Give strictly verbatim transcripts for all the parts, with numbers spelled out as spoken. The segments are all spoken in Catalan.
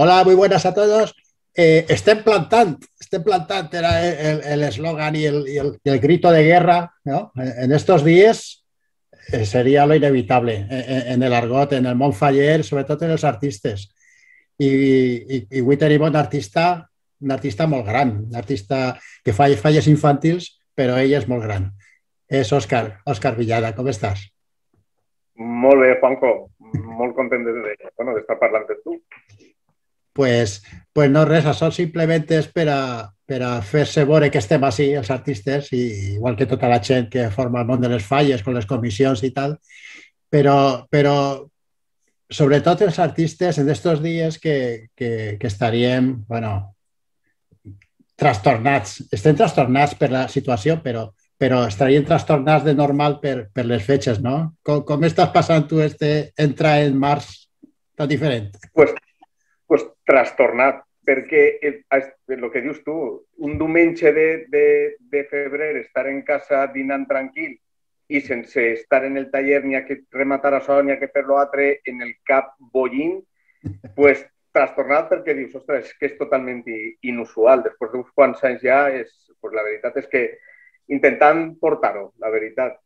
Hola, muy buenas a todos. Eh, estem plantant, estem plantant era el eslogan y el, y, el, y el grito de guerra, ¿no? En estos días eh, sería lo inevitable en, en el argot, en el món faller, sobretot en els artistes. I, i, i avui tenim un artista, un artista molt gran, un artista que fa falles infantils, però ell és molt gran. És Òscar, Òscar Villada, com estàs? Molt bé, Juanjo. Molt content de, de, bueno, d'estar parlant amb tu. Pues, pues no res, això simplement és per a, per a fer-se veure que estem així, els artistes, i igual que tota la gent que forma el món de les falles, con les comissions i tal, però, però sobretot els artistes en estos dies que, que, que estaríem, bueno, trastornats. Estem trastornats per la situació, però, però estaríem trastornats de normal per, per les fetges, no? Com, com estàs passant tu este entrar en març tan diferent? Pues, pues trastornat, perquè el, el que dius tu, un diumenge de, de, de febrer estar en casa dinant tranquil i sense estar en el taller ni ha que rematar això ni ha que fer-lo altre en el cap bollint, pues trastornat perquè dius, ostres, és que és totalment inusual. Després d'uns quants anys ja, és, pues la veritat és que intentant portar-ho, la veritat.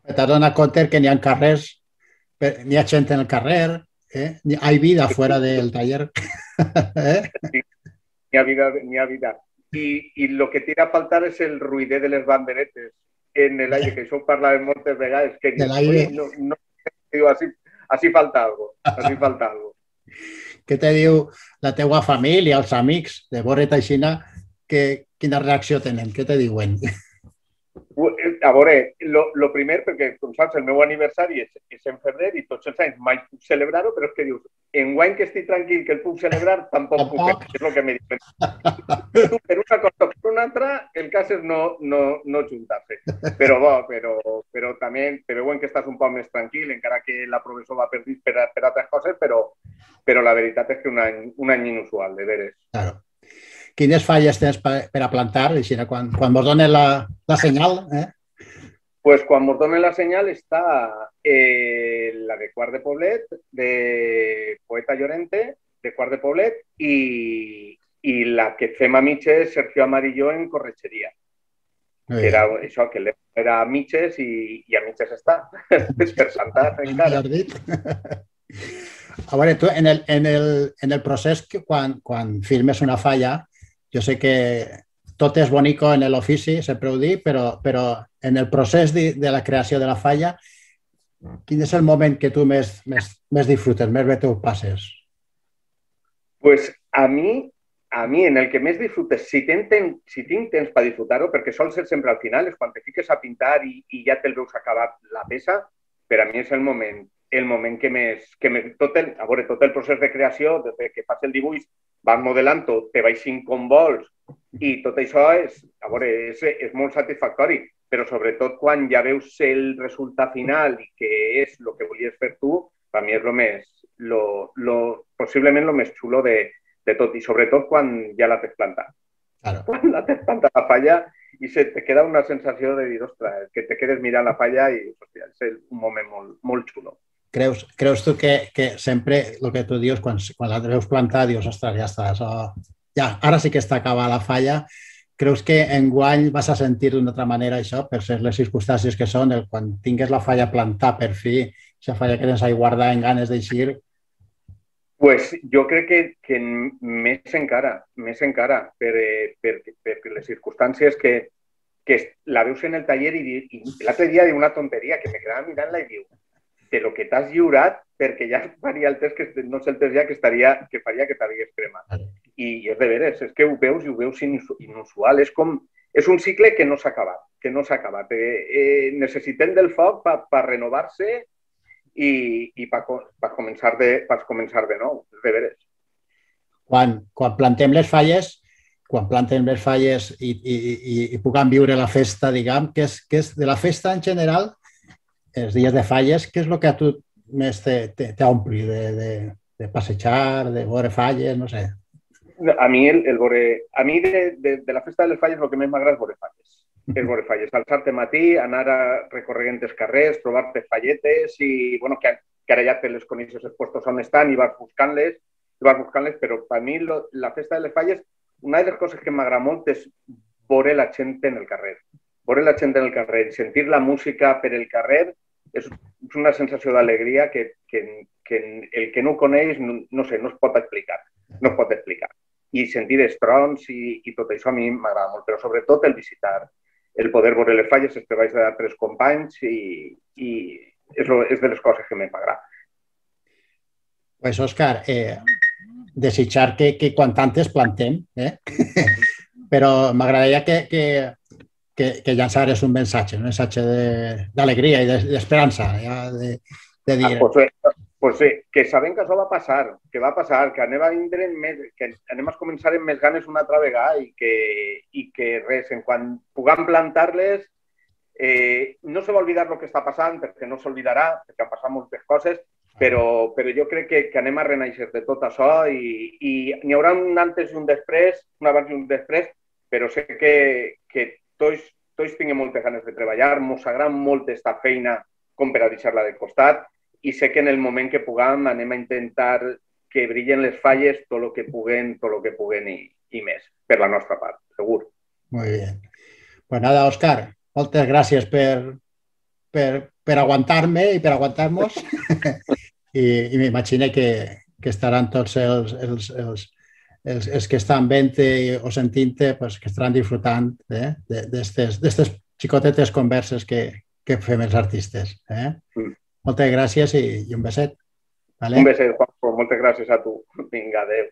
T'has donat compte que n'hi ha carrers, n'hi ha gent en el carrer, ¿eh? Hay vida fuera del taller. ¿Eh? Sí, n'hi ha vida, n'hi ha vida. I, I el que tira a faltar és el ruïder de les banderetes en l'aire, que això ho parlàvem moltes vegades, que dius, no, no, diu, així, així falta algo, així falta algo. Què te diu la teua família, els amics de veure't aixina, que, quina reacció tenen? Què te diuen? A veure, lo, lo primer, perquè, com saps, el meu aniversari és, és en febrer i tots els anys mai puc celebrar-ho, però és que dius, en guany que estic tranquil que el puc celebrar, tampoc, tampoc. puc, és el que me diuen. Tu, per una cosa o per una altra, el cas és no, no, no juntar-se. Però bo, però, però també te veuen que estàs un poc més tranquil, encara que la professor va per, per, per altres coses, però, però la veritat és que un any, un any inusual, de veres. Claro. Quines falles tens per a plantar? Quan, quan vos donen la, la senyal, eh? Pues quan mos donen la senyal està eh, la de Quart de Poblet, de Poeta Llorente, de Quart de Poblet, i, i la que fem a mitges, Sergio Amarillo, en Corretxeria. Que era això, que era a mitges i, i a mitges està. Per Santa, encara. A veure, tu, en el, en el, en el procés, que quan, quan firmes una falla, jo sé que tot és bonico en l'ofici, sempre ho dic, però, però en el procés de, de la creació de la falla, quin és el moment que tu més, més, més disfrutes, més bé t'ho passes? Pues a mi, a mi en el que més disfrutes, si, ten, si tinc temps per disfrutar-ho, perquè sol ser sempre al final, és quan te fiques a pintar i, i ja te'l veus acabat la peça, per a mi és el moment, el moment que més... Que més tot, el, a veure, tot el procés de creació, des que fas el dibuix, vas modelant-ho, te baixin com vols, i tot això és, a veure, és, és molt satisfactori, però sobretot quan ja veus el resultat final i que és el que volies fer tu, per mi és lo més, lo, lo, possiblement el més xulo de, de tot, i sobretot quan ja la tens plantat. Claro. Quan la tens plantat la falla i se te queda una sensació de dir, ostres, que te quedes mirant la falla i hòstia, és un moment molt, molt xulo. Creus, creus tu que, que sempre el que tu dius, quan, quan la veus plantar, dius, ostres, ja està, això, ja, ara sí que està acabada la falla. Creus que enguany vas a sentir d'una altra manera això, per ser les circumstàncies que són, el, quan tingues la falla plantar per fi, aquesta falla que tens ahí guardar en ganes d'eixir? Pues jo crec que, que més encara, més encara, per, per, per, per les circumstàncies que, que la veus en el taller i, i l'altre dia diu una tonteria que me quedava mirant-la i diu de lo que t'has lliurat, perquè ja faria el test, que no sé el test ja, que, estaria, que faria que t'hagués cremat. I és de veres, és que ho veus i ho veus inusual. És com, és un cicle que no s'ha acabat, que no s'ha acabat. Eh, eh, necessitem del foc per pa renovar-se i, i per pa començar, de, pa començar de nou, és de veres. Quan, quan plantem les falles, quan plantem les falles i, i, i, i puguem viure la festa, diguem, que és, que és de la festa en general, els dies de falles, què és el que a tu més t'ompli de, de, de passejar, de veure falles, no sé? A mi, el, el veure, a mi de, de, de la festa de les falles el que més m'agrada és veure falles. És veure falles. Alçar-te matí, anar a recorregant els carrers, trobar-te falletes i, bueno, que, que ara ja te les coneixes els puestos on estan i vas buscant-les vas buscant-les, però per mi lo, la festa de les falles, una de les coses que m'agrada molt és veure la gent en el carrer. Veure la gent en el carrer i sentir la música per el carrer és una sensació d'alegria que, que, que el que no ho coneix, no, no sé, no es pot explicar. No es pot explicar. I sentir els trons i, i tot això a mi m'agrada molt, però sobretot el visitar, el poder veure les falles, els treballs d'altres companys i, i és, lo, és de les coses que m'agrada. Pues, Òscar, eh, desitjar que, que quan tantes plantem, eh? Però m'agradaria que, que, que, que llançares un missatge, un missatge d'alegria i d'esperança, ja, de, de dir... Ah, pues bé, pues bé, que sabem que això va passar, que va passar, que anem a, més, que anem a començar amb més ganes una altra vegada i que, i que res, en quan puguem plantar-les, eh, no se va oblidar el que està passant, perquè no s'oblidarà, perquè han passat moltes coses, però, però jo crec que, que anem a renaixer de tot això i, i n'hi haurà un antes i un després, un abans i un després, però sé que, que tots, tots tinguem moltes ganes de treballar, mos agrada molt esta feina com per a deixar-la de costat i sé que en el moment que puguem anem a intentar que brillen les falles tot el que puguem, tot el que puguem i, i més, per la nostra part, segur. Molt bé. Pues nada, Òscar, moltes gràcies per, per, per aguantar-me i per aguantar-nos i, i m'imagino que, que estaran tots els, els, els, els, els que estan veient o sentint-te, pues, que estaran disfrutant eh, d'aquestes xicotetes converses que, que fem els artistes. Eh? Mm. Moltes gràcies i, i un beset. Vale? Un beset, Juanjo. Moltes gràcies a tu. Vinga, adéu.